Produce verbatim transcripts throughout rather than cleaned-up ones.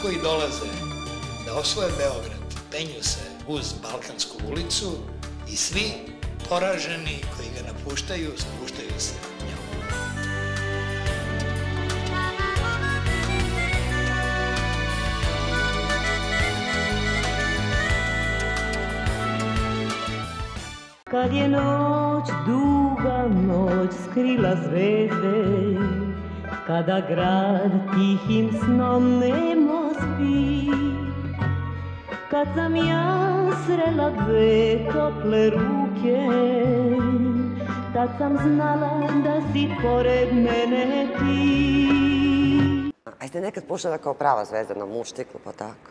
koji dolaze da osvoje Beograd penju se uz Balkansku ulicu i svi poraženi koji ga napuštaju spuštaju se njom. Kad je noć, duga noć, skrila zvezde, kada grad tihim snom nemo spi, kad sam ja srela dve tople ruke, tad sam znala da si pored mene ti. A jeste nekad puštala kao prava zvezda na muštiklu, pa tako?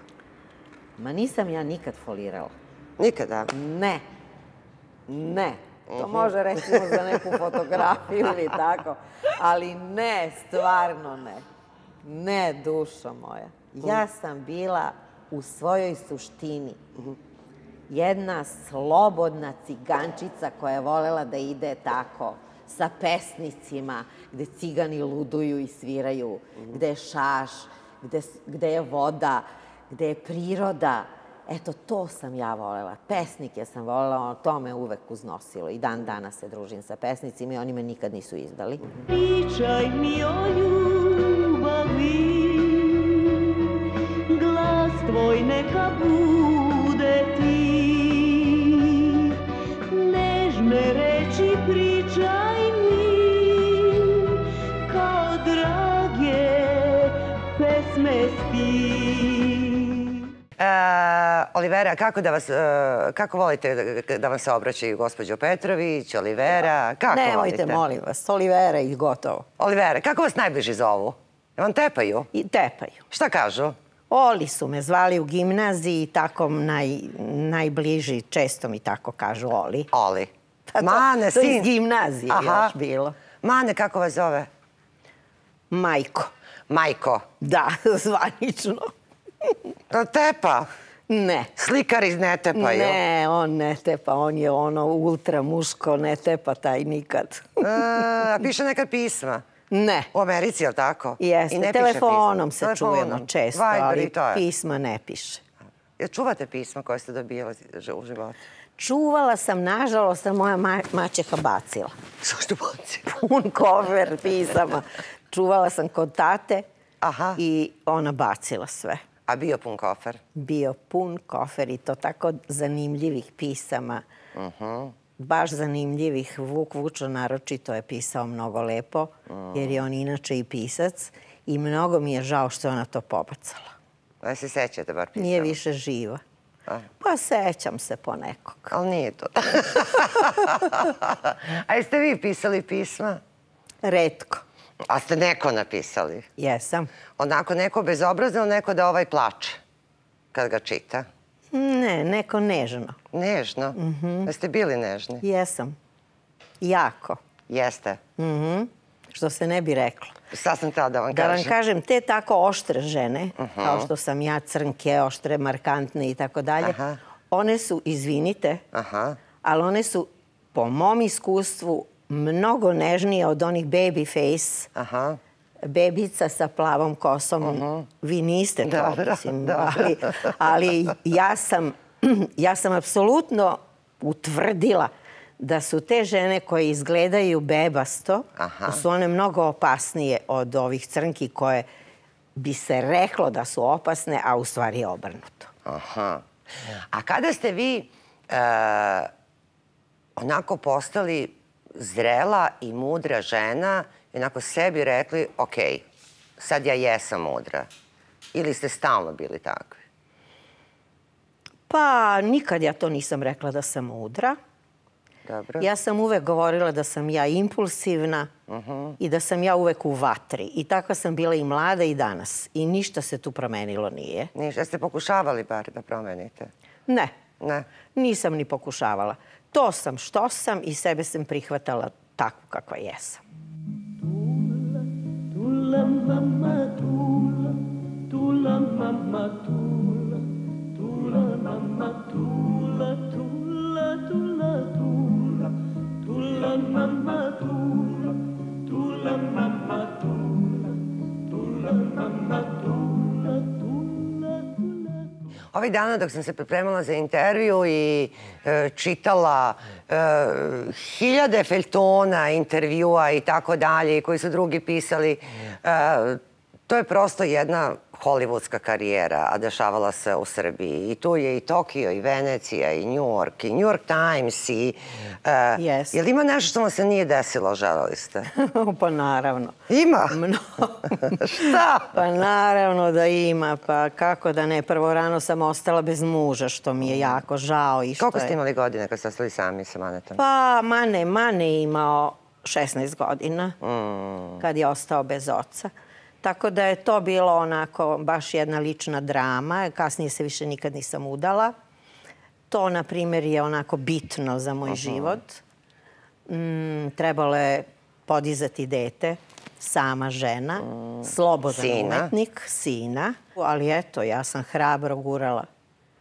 Ma nisam ja nikad folirala. Nikada? Ne. Ne. To može recimo za neku fotografiju ili tako. Ali ne, stvarno ne. Ne, dušo moja. Ja sam bila u svojoj suštini jedna slobodna cigančica koja je volela da ide tako sa pesnicima, gde cigani luduju i sviraju, gde je šaš, gde je voda, gde je priroda. Eto, to sam ja volela. Pesnike sam volela, to me uvek uznosilo. I dan danas se družim sa pesnicima i oni me nikad nisu izdali. Pričaj mi o ljubavi, glas tvoj neka bude ti. Nežne reči pričaj mi, kao drage pesme sti. Olivera, kako volite da vam se obraćaju gospođo Petrović, Olivera? Nemojte, molim vas, Olivera i gotovo. Olivera, kako vas najbliži zovu? Vam tepaju? Tepaju. Šta kažu? Oli su me zvali u gimnaziji, tako najbliži, često mi tako kažu Oli. Oli. Mane, sin? To iz gimnazije još bilo. Mane, kako vas zove? Majko. Majko? Da, zvanično. To tepa? Ne. Slikari ne tepaju? Ne, on ne tepa, on je ono ultra muško, ne tepa taj nikad. A piše nekad pisma? Ne. U Americi, je li tako? Jeste, telefonom se čujemo često, ali pisma ne piše. Jel čuvate pisma koje ste dobijali u životu? Čuvala sam, nažalost, sam moja maćeha bacila. Zašto bacila? Pun kofer pisama. Čuvala sam kod tate i ona bacila sve. A bio pun kofer? Bio pun kofer i to tako zanimljivih pisama. Baš zanimljivih. Vuk Vučo naročito je pisao mnogo lepo, jer je on inače i pisac i mnogo mi je žao što je ona to pobacala. Da se sećate bar pisama? Nije više živa. Pa sećam se po nekog. Ali nije to. A jeste vi pisali pisma? Retko. A ste neko napisali? Jesam. Onako neko bezobrazno, neko da ovaj plače kad ga čita? Ne, neko nežno. Nežno? Jeste bili nežni? Jesam. Jako. Jeste? Što se ne bi reklo. Sad sam tada da vam kažem. Da vam kažem, te tako oštre žene, kao što sam ja, crnke, oštre, markantne i tako dalje, one su, izvinite, ali one su, po mom iskustvu, mnogo nežnije od onih baby face, bebica sa plavom kosom. Vi niste to, mislim, ali ja sam apsolutno utvrdila da su te žene koje izgledaju bebasto, da su one mnogo opasnije od ovih crnki koje bi se reklo da su opasne, a u stvari je obrnuto. A kada ste vi onako postali zrela i mudra žena i onako sebi rekli, ok, sad ja jesam mudra, ili ste stalno bili takvi? Pa nikad ja to nisam rekla da sam mudra. Ja sam uvek govorila da sam ja impulsivna i da sam ja uvek u vatri. I takva sam bila i mlada i danas. I ništa se tu promenilo nije. Ništa. Jeste pokušavali bar da promenite? Ne. Ne? Nisam ni pokušavala. To sam što sam i sebe sam prihvatala takvu kakva jesam. Tula, mama, tula, tula, mama, tula, tula, mama, tula, tula, tula, tula, tula, mama, tula, tula, mama, tula, tula, mama, tula, tula. Ovih dana dok sam se pripremala za intervju i e, čitala e, hiljade feljtona, intervjua i tako dalje, koji su drugi pisali, e, to je prosto jedna hollywoodska karijera, a dešavala se u Srbiji. I tu je i Tokio, i Venecija, i New York, i New York Times, i... Uh, yes. Je li ima nešto što vam se nije desilo, želeli ste? Pa naravno. Ima? Šta? Pa naravno da ima, pa kako da ne. Prvo rano sam ostala bez muža, što mi je jako žao. I što Koliko je... ste imali godine kad ste ostali sami sa Manetom? Pa Mane, Mane je imao šesnaest godina, mm. kad je ostao bez oca. Tako da je to bilo onako baš jedna lična drama. Kasnije se više nikad nisam udala. To, na primjer, je onako bitno za moj uh-huh. život. Mm, trebalo je podizati dete, sama žena, mm. slobodan sina. umetnik, sina. Ali eto, ja sam hrabro gurala.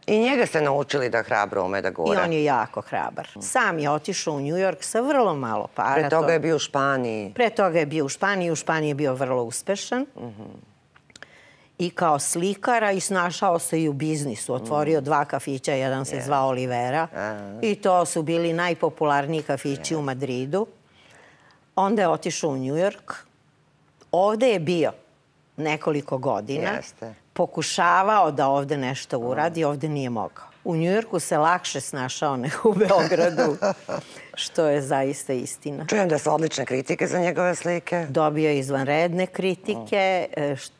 I njega ste naučili da hrabro ume da gura. I on je jako hrabar. Sam je otišao u New York sa vrlo malo para. Pre toga je bio u Španiji. Pre toga je bio u Španiji. U Španiji je bio vrlo uspešan. I kao slikara i snašao se i u biznisu. Otvorio dva kafića, jedan se zvao Olivera. I to su bili najpopularniji kafići u Madridu. Onda je otišao u New York. Ovde je bio nekoliko godina. Pokušavao da ovde nešto uradi, ovde nije mogao. U Njujorku se lakše snašao nego u Beogradu, što je zaista istina. Čujem da su odlične kritike za njegove slike. Dobio je izvanredne kritike.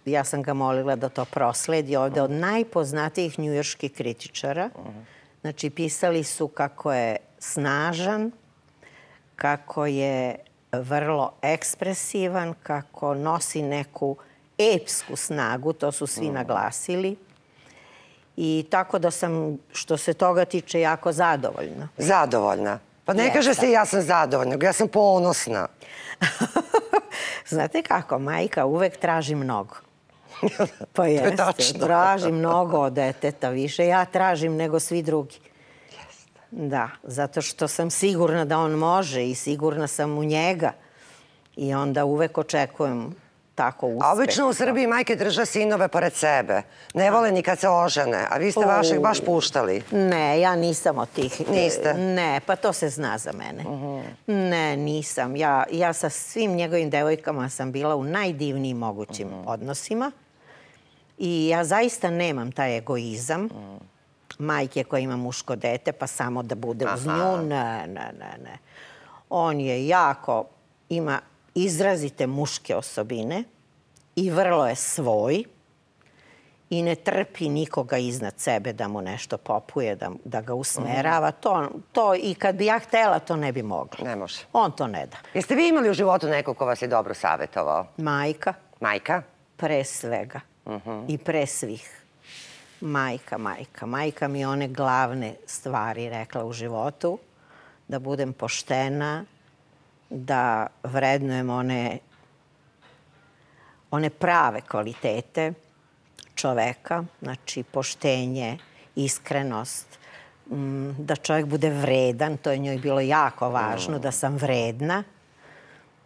Ja sam ga molila da to prosledi ovde od najpoznatijih njujorških kritičara. Znači, pisali su kako je snažan, kako je vrlo ekspresivan, kako nosi neku epsku snagu, to su svi naglasili. I tako da sam, što se toga tiče, jako zadovoljna. Zadovoljna? Pa ne kaže se ja sam zadovoljna, ja sam ponosna. Znate kako, majka uvek traži mnogo. Pa jeste, traži mnogo od deteta više. Ja tražim nego svi drugi. Da, zato što sam sigurna da on može i sigurna sam u njega. I onda uvek očekujem tako uspeh. A obično u Srbiji majke drže sinove pored sebe. Ne vole ni kad se ožene. A vi ste vašeg baš puštali. Ne, ja nisam od tih. Niste? Ne, pa to se zna za mene. Ne, nisam. Ja sa svim njegovim devojkama sam bila u najdivnijim mogućim odnosima. I ja zaista nemam taj egoizam majke koja ima muško dete, pa samo da bude uz nju. Ne, ne, ne, ne. On je jako, ima izrazite muške osobine i vrlo je svoj i ne trpi nikoga iznad sebe da mu nešto popuje, da, da ga usmerava. To, to i kad bi ja htela, to ne bi mogla. Ne može. On to ne da. Jeste vi imali u životu nekog ko vas je dobro savjetovao? Majka. Majka? Pre svega. I pre svih. Majka, majka. Majka mi je one glavne stvari rekla u životu. Da budem poštena, da vrednujem one, one prave kvalitete čoveka, znači poštenje, iskrenost, da čovjek bude vredan, to je njoj bilo jako važno, da sam vredna,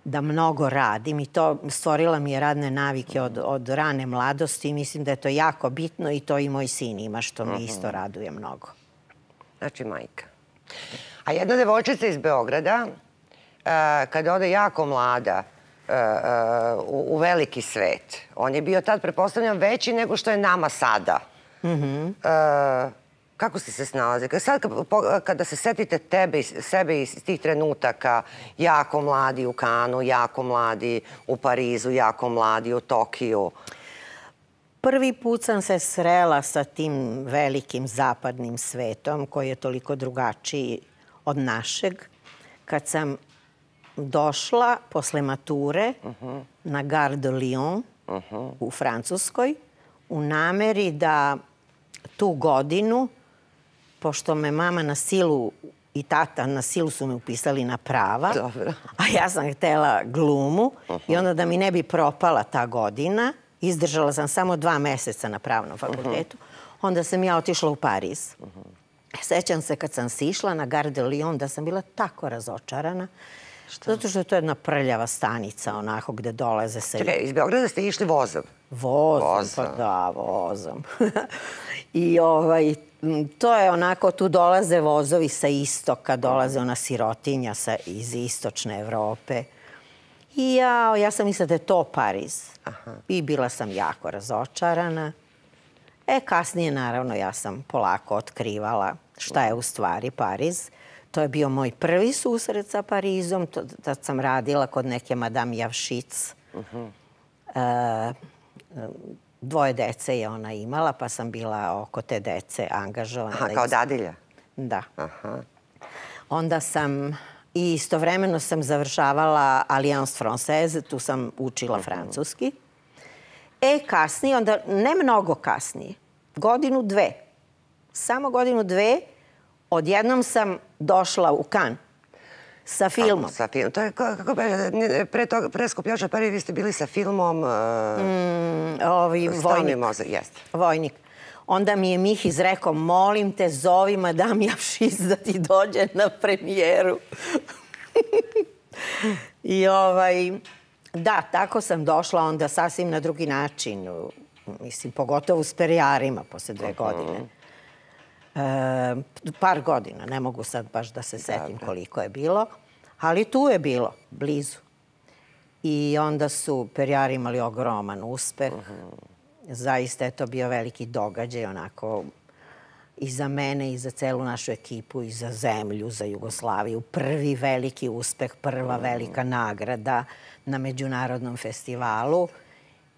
da mnogo radim i to stvorila mi je radne navike od, od rane mladosti i mislim da je to jako bitno i to i moj sin ima, što me isto raduje mnogo. Znači majka. A jedna devojčica iz Beograda, kada ode jako mlada u veliki svet, on je bio tad, pretpostavljam, veći nego što je nama sada. Kako ste se snalazili? Sad kada se setite sebe iz tih trenutaka, jako mladi u Kanu, jako mladi u Parizu, jako mladi u Tokiju. Prvi put sam se srela sa tim velikim zapadnim svetom koji je toliko drugačiji od našeg. Kad sam došla posle mature na Gare de Lyon u Francuskoj u nameri da tu godinu, pošto me mama na silu i tata na silu su me upisali na prava, a ja sam htela glumu i onda da mi ne bi propala ta godina, izdržala sam samo dva meseca na pravnom fakultetu, onda sam ja otišla u Pariz. Sećam se kad sam sišla na Gare de Lyon da sam bila tako razočarana, zato što je to jedna prljava stanica, onako gde dolaze se... Čekaj, iz Beograda ste išli vozom? Vozom, pa da, vozom. I ovaj, to je onako, tu dolaze vozovi sa istoka, dolaze ona sirotinja sa, iz istočne Evrope. I ja, ja sam mislila da je to Pariz. Aha. I bila sam jako razočarana. E, kasnije, naravno, ja sam polako otkrivala šta je u stvari Pariz. To je bio moj prvi susret sa Parizom. Tad sam radila kod neke Madame Javšic. Uh-huh. e, dvoje dece je ona imala, pa sam bila oko te dece angažovana. Aha, kao dadilja? Da. Aha. Onda sam i istovremeno sam završavala Alliance Française, tu sam učila uh-huh. francuski. E, kasnije, onda ne mnogo kasnije, godinu dve, samo godinu dve, odjednom sam došla u Cannes sa filmom. Sa filmom. To je, kako pre toga, pre Skupljača Pari, vi ste bili sa filmom... Mm, ovi, Vojnik. Moze, jeste. Vojnik. Onda mi je Mihiz rekao, molim te, zovi Madame Javšic da ti dođe na premijeru. I ovaj... Da, tako sam došla onda sasvim na drugi način. Mislim, pogotovo s perijarima posle dve godine. E, par godina, ne mogu sad baš da se setim koliko je bilo. Ali tu je bilo, blizu. I onda su perijari imali ogroman uspeh. Zaista je to bio veliki događaj, onako, i za mene, i za celu našu ekipu, i za zemlju, za Jugoslaviju. Prvi veliki uspeh, prva velika nagrada na međunarodnom festivalu.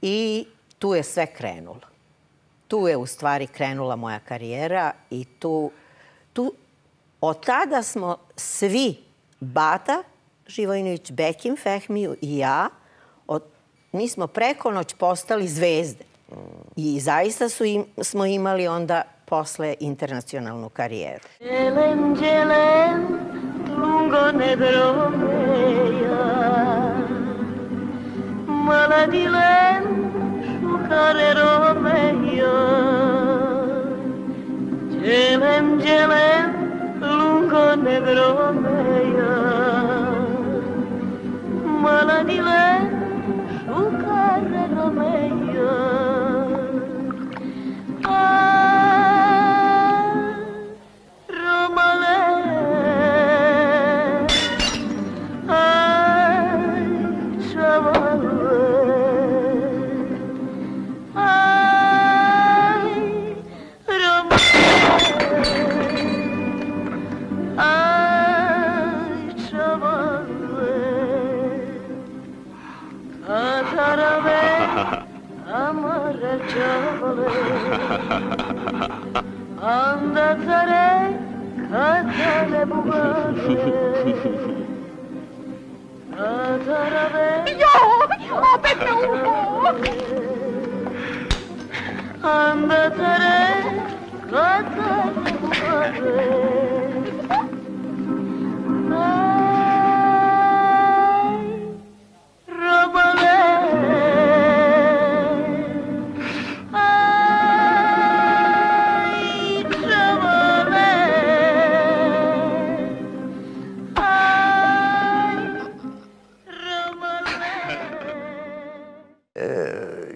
I tu je sve krenulo. Tu je u stvari krenula moja karijera i tu, tu od tada smo svi, Bata Živojinović, Bekim Fehmiju i ja, od, mi smo preko noć postali zvezde. I zaista su im, smo imali onda posle internacionalnu karijeru. Đelem, đelem, lungo nedromeja, maladilem, šukare romeja. Đelem, đelem, lungo nedromeja, maladilem, šukare romeja. Andatare katale bugare Atarave Jo, opet me upo Andatare katale bugare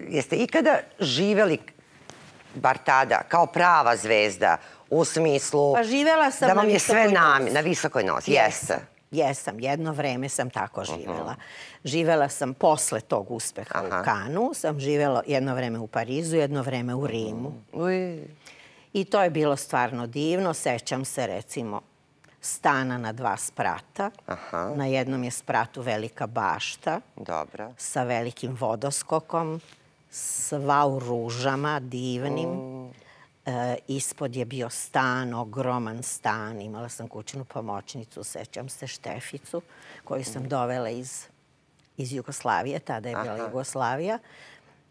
Jeste ikada živeli, bar tada, kao prava zvezda, u smislu pa živela sam da vam na je sve visokoj nam, nozi. na visokoj nozi? Jeste. Jesam, jedno vreme sam tako živela. Živela sam posle tog uspeha u Kanu, sam živela jedno vreme u Parizu, jedno vreme u Rimu. I to je bilo stvarno divno. Sećam se, recimo, stana na dva sprata. Na jednom je spratu velika bašta sa velikim vodoskokom, sva u ružama, divnim. Ispod je bio stan, ogroman stan. Imala sam kućnu pomoćnicu, sećam se, Šteficu, koju sam dovela iz, iz Jugoslavije. Tada je bila Jugoslavija.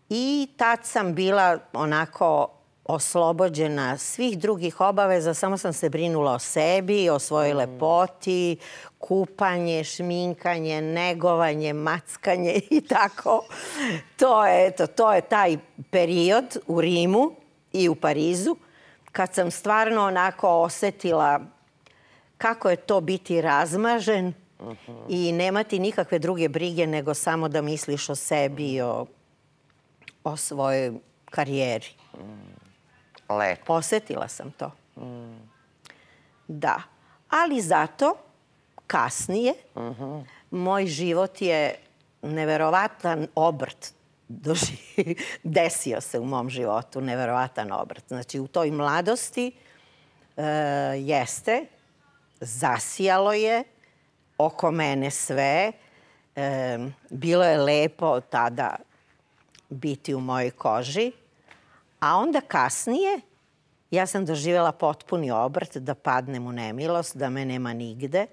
I tad sam bila onako oslobođena svih drugih obaveza. Samo sam se brinula o sebi, o svojoj lepoti, kupanje, šminkanje, negovanje, mackanje i tako. To je, eto, to je taj period u Rimu i u Parizu, kad sam stvarno onako osetila kako je to biti razmažen i nemati nikakve druge brige nego samo da misliš o sebi i o, o svojoj karijeri. Lepo. Osetila sam to. Da. Ali zato, kasnije, moj život je neverovatan obrt. Desio se u mom životu neverovatan obrt. Znači, u toj mladosti jeste, zasijalo je oko mene sve. Bilo je lepo tada biti u mojoj koži. A onda kasnije ja sam doživjela potpuni obrt, da padnem u nemilost, da me nema nigde.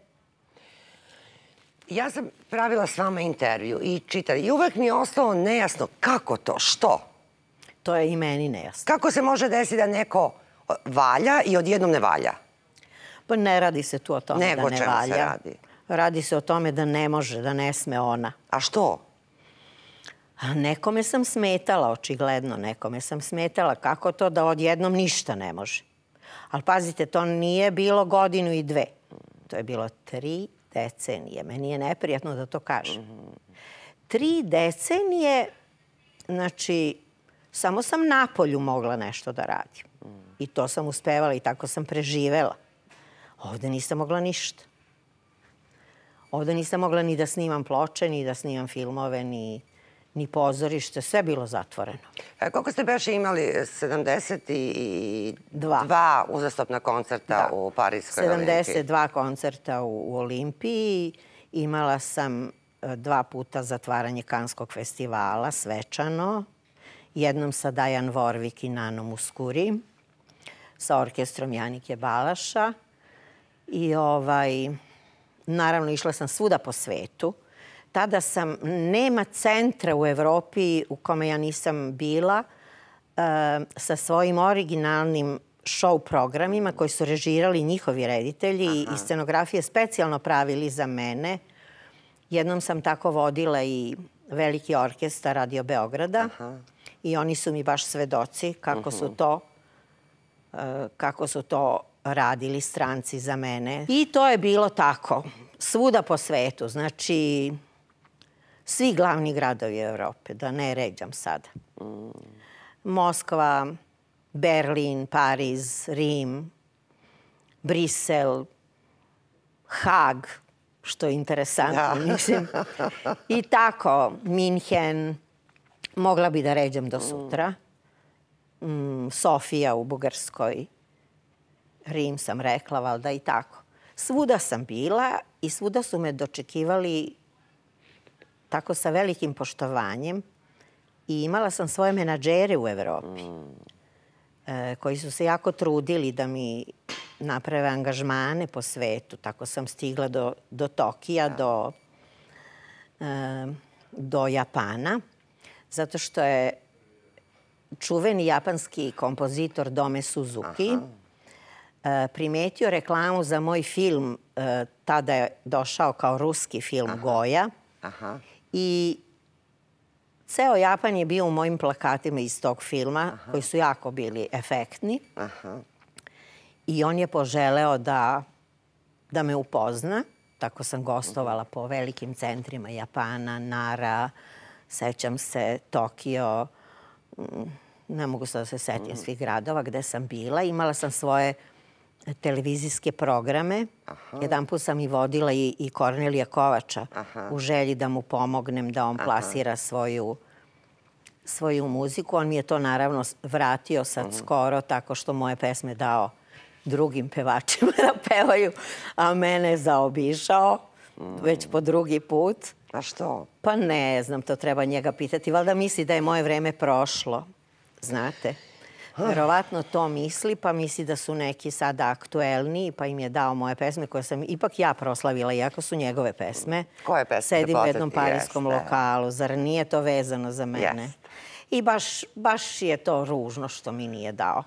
Ja sam pravila s vama intervju i čitala. I uvek mi je ostalo nejasno kako to, što? To je i meni nejasno. Kako se može desiti da neko valja i odjednom ne valja? Pa ne radi se tu o tome Nego da ne čemu se valja. radi? Radi se o tome da ne može, da ne sme ona. A što? A nekome sam smetala, očigledno nekome sam smetala. Kako to da odjednom ništa ne može? Ali pazite, to nije bilo godinu i dve. To je bilo tri decenije. Meni je neprijatno da to kažem. Tri decenije, znači, samo sam napolju mogla nešto da radim. I to sam uspevala i tako sam preživela. Ovde nisam mogla ništa. Ovde nisam mogla ni da snimam ploče, ni da snimam filmove, ni... ni pozorište, sve bilo zatvoreno. E, koliko ste beše imali? sedamdeset dva uzastopna koncerta u Parijskoj Olimpiji? sedamdeset dva koncerta u, u Olimpiji. Imala sam dva puta zatvaranje Kanskog festivala, svečano. Jednom sa Dajan Vorvik i Nanom Muskuri, sa orkestrom Janike Balaša. I ovaj, naravno, išla sam svuda po svetu. Tada sam, nema centra u Evropi u kome ja nisam bila sa svojim originalnim show programima koji su režirali njihovi reditelji i scenografije specijalno pravili za mene. Jednom sam tako vodila i veliki orkestar Radio Beograda i oni su mi baš svedoci kako su to, kako su to radili stranci za mene. I to je bilo tako, svuda po svetu. Znači, svi glavni gradovi Evrope, da ne ređam sada. Moskva, Berlin, Pariz, Rim, Brisel, Hag, što je interesantno, mislim. I tako, Minhen, mogla bi da ređam do sutra. Sofija u Bugarskoj, Rim sam rekla, valjda i tako. Svuda sam bila i svuda su me dočekivali tako sa velikim poštovanjem i imala sam svoje menadžere u Evropi koji su se jako trudili da mi naprave angažmane po svetu. Tako sam stigla do, do Tokija, do, do Japana, zato što je čuveni japanski kompozitor Dome Suzuki primetio reklamu za moj film, tada je došao kao ruski film Goja. I ceo Japan je bio u mojim plakatima iz tog filma, koji su jako bili efektni. I on je poželeo da, da me upozna. Tako sam gostovala po velikim centrima Japana, Nara, sećam se Tokio, ne mogu sad da se setim svih gradova gde sam bila. Imala sam svoje televizijske programe. Jedan put sam i vodila i, i Kornelija Kovača u želji da mu pomognem da on plasira svoju, svoju muziku. On mi je to naravno vratio sad skoro tako što moje pesme dao drugim pevačima da pevaju, a mene zaobišao već po drugi put. A što? Pa ne znam, to treba njega pitati. Valjda misli da je moje vreme prošlo, znate. Verovatno to misli, pa misli da su neki sada aktuelniji, pa im je dao moje pesme koje sam ipak ja proslavila, iako su njegove pesme. Koje pesme? Sedim u jednom parijskom lokalu, zar nije to vezano za mene? I baš, baš je to ružno što mi nije dao.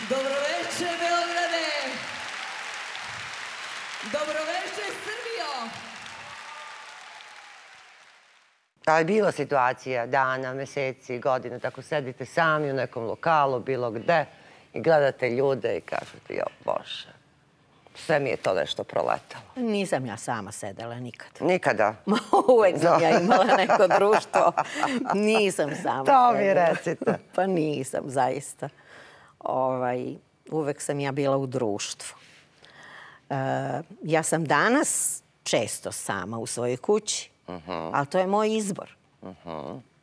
Dobroveče, Beograde! Dobroveče, Srbijo! Da li je bilo situacija, dana, meseci, godina, tako sedite sami u nekom lokalu, bilo gde, i gledate ljude i kažete, jo, Bože, sve mi je to nešto proletalo. Nisam ja sama sedela nikad. Nikada? Uvek sam ja imala neko društvo. Nisam sama sedela. To mi recite. Pa nisam, zaista. Uvek sam ja bila u društvu. Ja sam danas često sama u svojoj kući, ali to je moj izbor.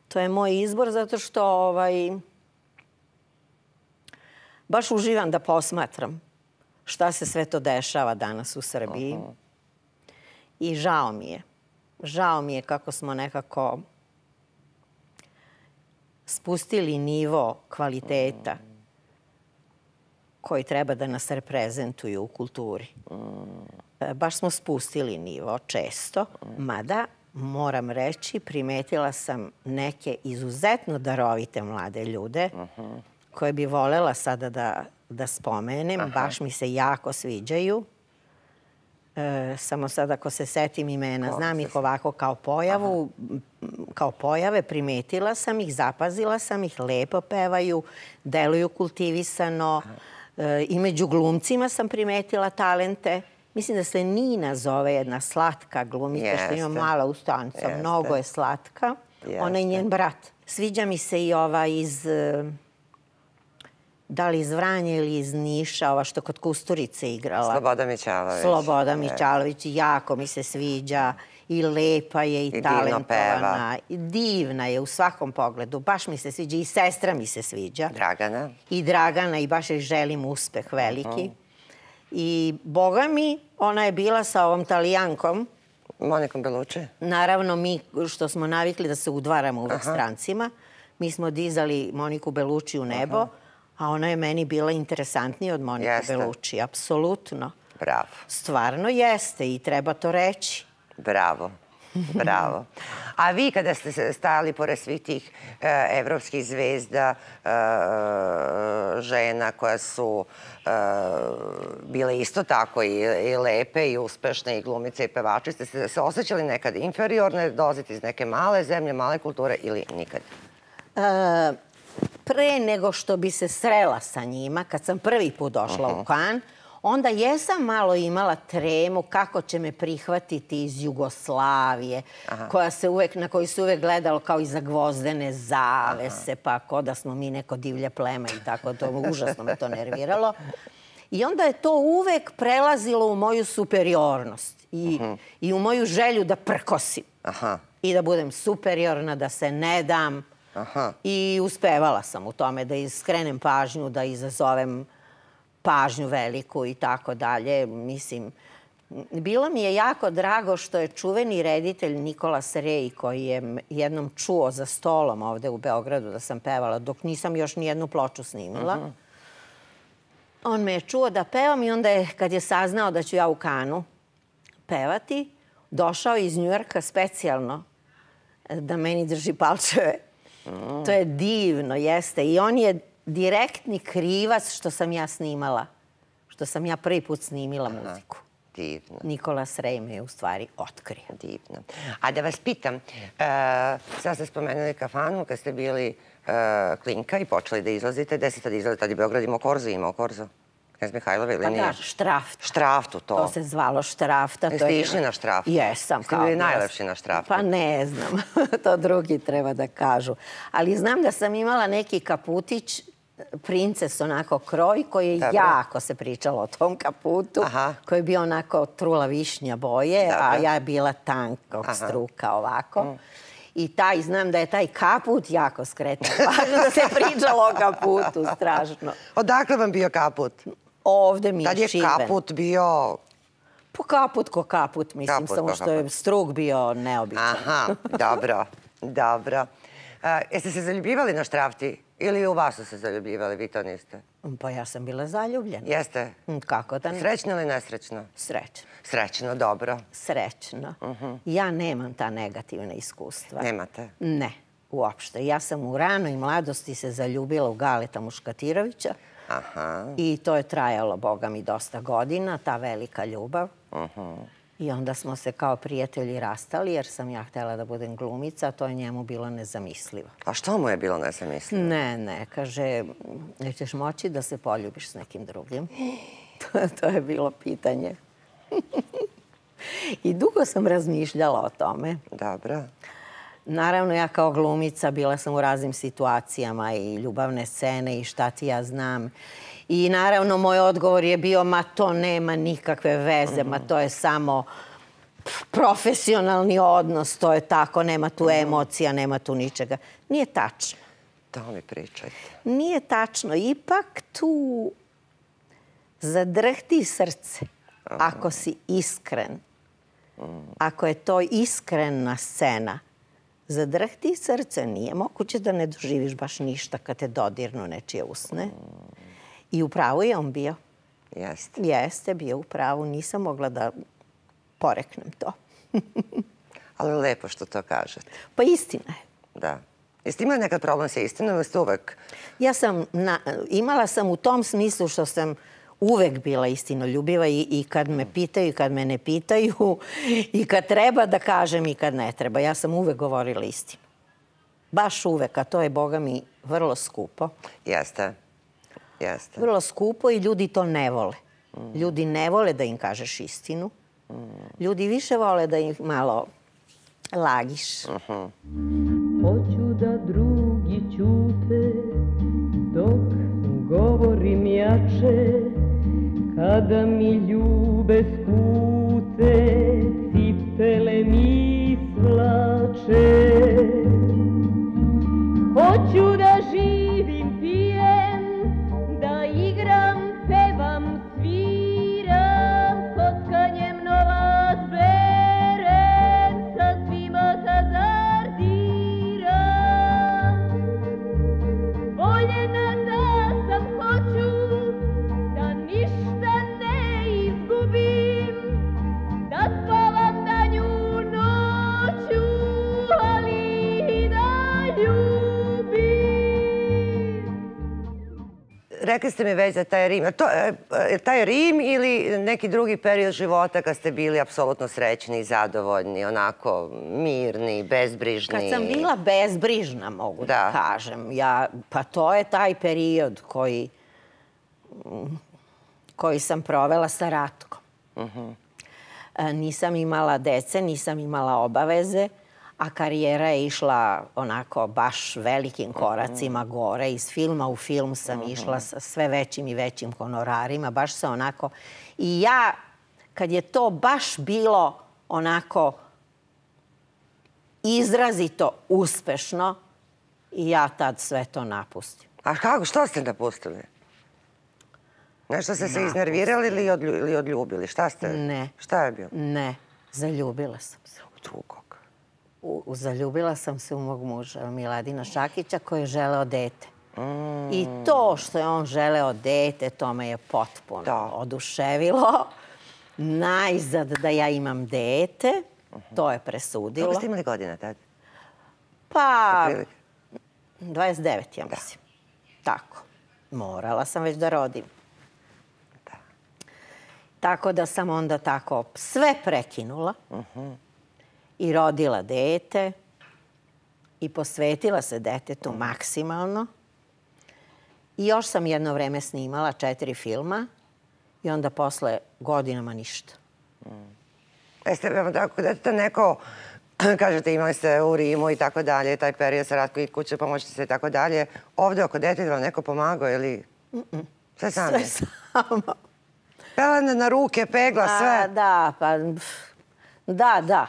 To je moj izbor zato što baš uživam da posmatram šta se sve to dešava danas u Srbiji. I žao mi je. Žao mi je kako smo nekako spustili nivo kvaliteta koji treba da nas reprezentuju u kulturi. Baš smo spustili nivo često, mada moram reći, primetila sam neke izuzetno darovite mlade ljude koje bi volela sada da da spomenem, baš mi se jako sviđaju. Samo sad ako se setim imena, znam ih ovako kao pojavu, kao pojave, primetila sam ih, zapazila sam ih, lepo pevaju, deluju kultivisano. I među glumcima sam primetila talente. Mislim da se Nina zove, jedna slatka glumica što ima mala ustanca, mnogo je slatka. Ona je njen brat. Sviđa mi se i ova iz... da li iz Vranja ili iz Niša, ova što kod Kusturice igrala. Sloboda Mićalović. Sloboda Mićalović, jako mi se sviđa. I lepa je, i talentovana. I divna je u svakom pogledu. Baš mi se sviđa. I sestra mi se sviđa. Dragana. I Dragana, i baš joj želim uspeh veliki. I boga mi, ona je bila sa ovom Talijankom. Monikom Belucci. Naravno, mi što smo navikli da se udvaramo uvek strancima, mi smo dizali Moniku Belucci u nebo, a ona je meni bila interesantnija od Monike Belucci, apsolutno. Bravo. Stvarno jeste i treba to reći. Bravo, bravo. A vi kada ste stajali pored svih tih evropskih zvezda, žena koja su bile isto tako i lepe i uspešne i glumice i pevače, ste se osjećali nekad inferiorne, dolazite iz neke male zemlje, male kulture ili nikad? Pre nego što bi se srela sa njima, kad sam prvi put došla u Kan, onda jesam malo imala tremu kako će me prihvatiti iz Jugoslavije, na koju se uvek gledalo kao iza gvozdene zavese, pa kao da smo mi neko divlje pleme i tako, to užasno me to nerviralo. I onda je to uvek prelazilo u moju superiornost i u moju želju da prkosim i da budem superiorna, da se ne dam. I uspevala sam u tome da skrenem pažnju, da izazovem pažnju veliku i tako dalje. Mislim, bilo mi je jako drago što je čuveni reditelj Nikola Rej, koji je jednom čuo za stolom ovde u Beogradu da sam pevala, dok nisam još ni jednu ploču snimila. On me je čuo da pevam i onda je, kad je saznao da ću ja u Kanu pevati, došao iz Njujorka specijalno da meni drži palčeve. To je divno, jeste. I on je direktni krivac što sam ja snimala. Što sam ja prvi put snimila muziku. Divno. Nikola Rej me je u stvari otkrio. Divno. A da vas pitam, sad ste spomenuli kafanu kad ste bili klinka i počeli da izlazite. Gde ste tad izlazili? Tad je Beograd imao Korzo, imao Korzo? Knez Mihajlova ili nije? Pa da, Štraft. Štraftu, to. To se zvalo Štrafta. Jeste išli na Štraftu? Jesam. Ste bili najlepši na Štraftu? Pa ne znam. To drugi treba da kažu. Ali znam da sam imala neki kaputić, princes onako kroj, koji je jako se pričalo o tom kaputu, koji je bio onako trula višnja boje, a ja je bila tankog struka ovako. I taj, znam da je taj kaput jako skretao. Važno da se pričalo o kaputu, strašno. Odakle vam bio kaput? Ovde mi je šiben. Tad je kaput bio... Po kaput ko kaput, mislim, samo što je struk bio neobičan. Aha, dobro, dobro. Jeste se zaljubljivali na Štrafti? Ili u vas su se zaljubljivali, vi to niste? Pa ja sam bila zaljubljena. Jeste? Kako da ne? Srećno ili nesrećno? Srećno. Srećno, dobro. Srećno. Ja nemam ta negativna iskustva. Nemate? Ne, uopšte. Ja sam u ranoj mladosti se zaljubila u Galeta Muškatirovića. I to je trajalo, boga mi, dosta godina, ta velika ljubav. I onda smo se kao prijatelji rastali, jer sam ja htjela da budem glumica, a to je njemu bilo nezamislivo. A što mu je bilo nezamislivo? Ne, ne, kaže, nećeš moći da se poljubiš s nekim drugim. To je bilo pitanje. I dugo sam razmišljala o tome. Dobro. Naravno, ja kao glumica bila sam u raznim situacijama i ljubavne scene i šta ti ja znam. I naravno, moj odgovor je bio, ma to nema nikakve veze, ma to je samo profesionalni odnos, to je tako, nema tu emocija, nema tu ničega. Nije tačno. To mi pričajte. Nije tačno. Ipak tu zadrhti srce ako si iskren. Ako je to iskrena scena, zadrhti srce, nije moguće da ne doživiš baš ništa kad te dodirnu nečije usne. I u pravu je on bio. Jeste. Jeste, bio u pravu. Nisam mogla da poreknem to. Ali lepo što to kažete. Pa istina je. Da. Jeste imali nekad problem sa istinom ili ste uvek? Ja sam, imala sam u tom smislu što sam uvek bila istinoljubiva i kad me pitaju i kad me ne pitaju i kad treba da kažem i kad ne treba. Ja sam uvek govorila istinu. Baš uvek, a to je, boga mi, vrlo skupo. Jeste. Jeste. Vrlo skupo i ljudi to ne vole. Ljudi ne vole da im kažeš istinu. Ljudi više vole da ih malo lagiš. Hoću da drugi ćute dok govorim jače, kada mi ljube skute, cipele mi svlače. Hoću da živim, pijem, da igram, pevam, sviram, kockanjem novac berem, sa svima hazardiram. Voljena da sam, hoću da ništa ne izgubim, da spavam danju noću, ali i da ljubim. Rekli ste mi već za taj Rim. Je taj Rim ili neki drugi period života kad ste bili apsolutno srećni i zadovoljni, onako mirni, bezbrižni? Kad sam bila bezbrižna, mogu da kažem. Pa to je taj period koji koji sam provela sa Ratkom. Nisam imala dece, nisam imala obaveze, a karijera je išla onako baš velikim koracima gore. Iz filma u film sam išla sa sve većim i većim honorarima, baš se onako... I ja, kad je to baš bilo onako izrazito uspešno, i ja tad sve to napustim. A kako, što ste napustili? Nešto ste se iznervirali ili odljubili? Šta ste? Ne. Šta je bilo? Ne, zaljubila sam se. U drugog? Zaljubila sam se u mog muža, Miladina Šakića, koji je želeo dete. I to što je on želeo dete, to me je potpuno oduševilo. Najzad da ja imam dete, to je presudilo. Koliko ste imali godina tad? Pa, dvadeset devet, ja mislim. Tako. Morala sam već da rodim. Tako da sam onda tako sve prekinula i rodila dete i posvetila se detetu maksimalno. I još sam jedno vreme snimala četiri filma i onda posle godinama ništa. Jeste, evo tako, deteta neko, kažete imali ste u Rimu i tako dalje, taj period sa Ratko i kuće, pomoćite se i tako dalje. Ovde oko deteta vam neko pomagao ili sve sami? Sve sama. Pelene na ruke, pegla, sve? Da, pa... Da, da.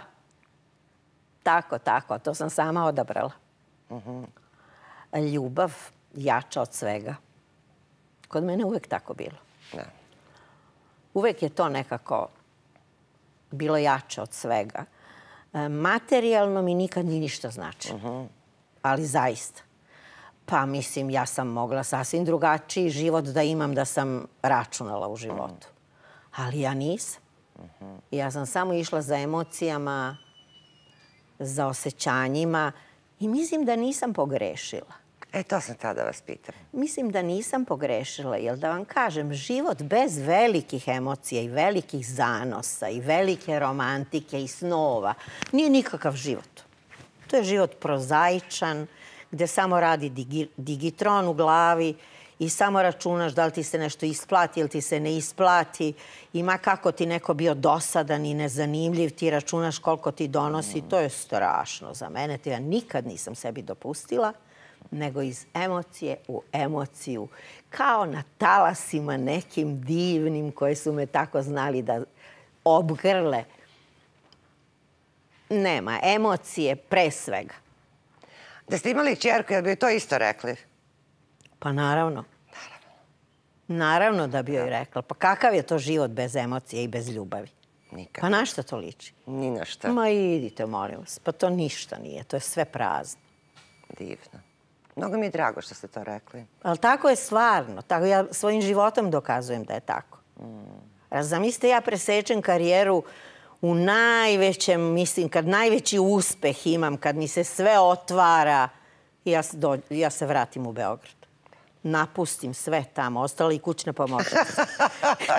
Tako, tako. To sam sama odabrala. Ljubav jača od svega. Kod mene uvek tako bilo. Uvek je to nekako bilo jače od svega. Materijalno mi nikad ni ništa znači. Ali zaista. Pa mislim, ja sam mogla sasvim drugačiji život da imam da sam računala u životu. Ali ja nisam. Ja sam samo išla za emocijama, za osjećanjima i mislim da nisam pogrešila. E, to sam tada vas pitam. Mislim da nisam pogrešila, jer da vam kažem, život bez velikih emocija i velikih zanosa i velike romantike i snova nije nikakav život. To je život prozaičan, gde samo radi digi, digitron u glavi i samo računaš da li ti se nešto isplati ili ti se ne isplati. Ima kako ti neko bio dosadan i nezanimljiv, ti računaš koliko ti donosi. To je strašno za mene. Ja nikad nisam sebi dopustila, nego iz emocije u emociju. Kao na talasima nekim divnim koji su me tako znali da obgrle. Nema, emocije pre svega. Da ste imali ćerku, jel bi to isto rekli? Pa naravno. Naravno da bi joj rekla. Pa kakav je to život bez emocije i bez ljubavi? Nikad. Pa na šta to liči? Ni na šta. Ma idite, molim vas. Pa to ništa nije. To je sve prazno. Divno. Mnogo mi je drago što ste to rekli. Ali tako je stvarno. Tako ja svojim životom dokazujem da je tako. Zamislite, ja presečem karijeru u najvećem, mislim, kad najveći uspeh imam, kad mi se sve otvara, ja, do, ja se vratim u Beograd. Napustim sve tamo, ostala i kućna pomoćnica.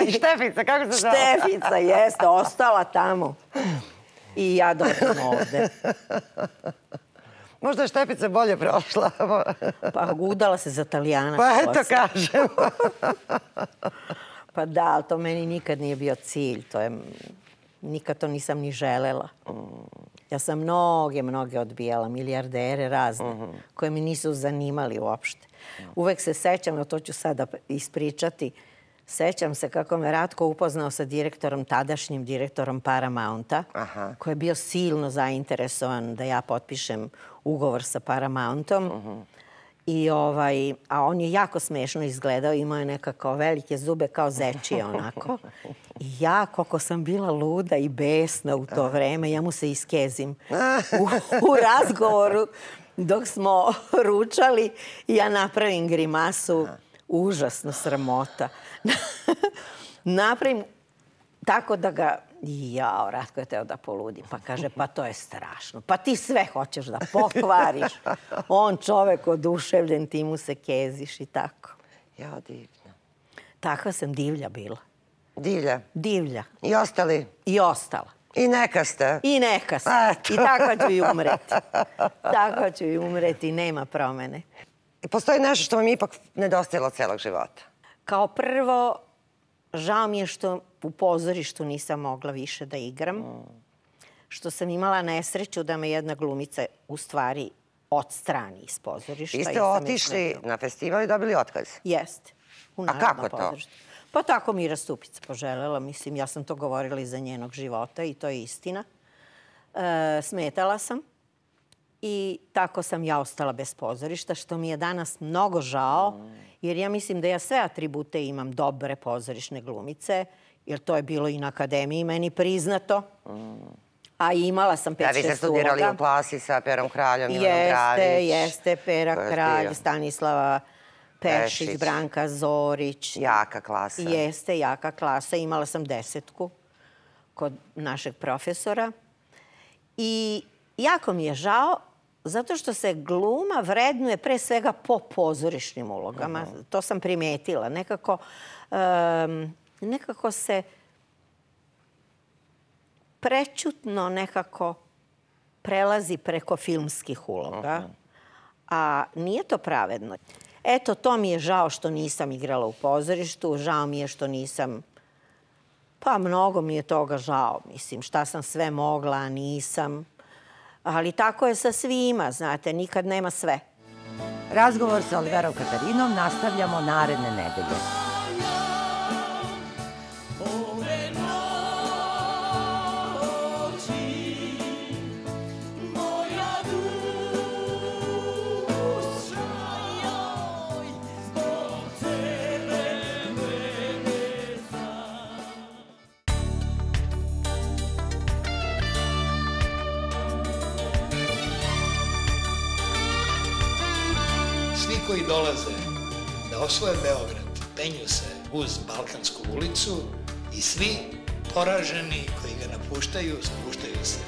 I Štefica, kako se zove? Štefica, jeste, ostala tamo. I ja dođem ovde. Možda je Štefica bolje prošla. Pa udala se za Talijana. Pa eto kažem. Pa da, ali to meni nikad nije bio cilj. To je... Nikad to nisam ni želela. Ja sam mnoge, mnoge odbijala, milijardere razne, koje mi nisu zanimali uopšte. Uvek se sećam, no to ću sada ispričati, sećam se kako me Ratko upoznao sa direktorom, tadašnjim direktorom Paramounta, koji je bio silno zainteresovan da ja potpišem ugovor sa Paramountom. I ovaj, a on je jako smešno izgledao, imao je nekako velike zube kao zečije onako. I ja, koliko sam bila luda i besna u to vreme, ja mu se iskezim u, u razgovoru dok smo ručali i ja napravim grimasu, užasno sramota. Napravim tako da ga, jao, Ratko je teo da poludi. Pa kaže, pa to je strašno. Pa ti sve hoćeš da pokvariš. On čovek oduševljen, ti mu se keziš i tako. Ja, divno. Takva sam divlja bila. Divlja? Divlja. I ostali? I ostala. I neka ste? I neka ste. I tako ću i umreti. Tako ću i umreti, nema promene. I postoji nešto što vam je ipak nedostajalo celog života? Kao prvo, žao mi je što u pozorištu nisam mogla više da igram. Što sam imala nesreću da me jedna glumica u stvari odstrani iz pozorišta. Vi ste otišli na festival i dobili otkaz? Jeste. A kako to? Pa tako Mira Stupica poželela. Mislim, ja sam to govorila iza njenog života i to je istina. E, smetala sam i tako sam ja ostala bez pozorišta, što mi je danas mnogo žao, jer ja mislim da ja sve atribute imam dobre pozorišne glumice, jer to je bilo i na akademiji meni priznato. A imala sam pet šest uloga. Da, vi ste studirali u klasi sa Perom Kraljom, Ivanom Dravić. Jeste, jeste, Pera Kralj, Stanislava Pešić, Branka Zorić. Jaka klasa. Jeste, jaka klasa. Imala sam desetku kod našeg profesora. I jako mi je žao, zato što se gluma vrednuje pre svega po pozorišnim ulogama. To sam primetila. Nekako, um, nekako se prećutno nekako prelazi preko filmskih uloga. A nije to pravedno. Eto, to mi je žao što nisam igrala u pozorištu. Žao mi je što nisam... Pa, mnogo mi je toga žao. Mislim, šta sam sve mogla, a nisam. Ali tako je sa svima, znate, nikad nema sve. Razgovor sa Oliverom Katarinom nastavljamo naredne nedelje. Koji dolaze da osvoje Beograd, penju se uz Balkansku ulicu i svi poraženi koji ga napuštaju, spuštaju se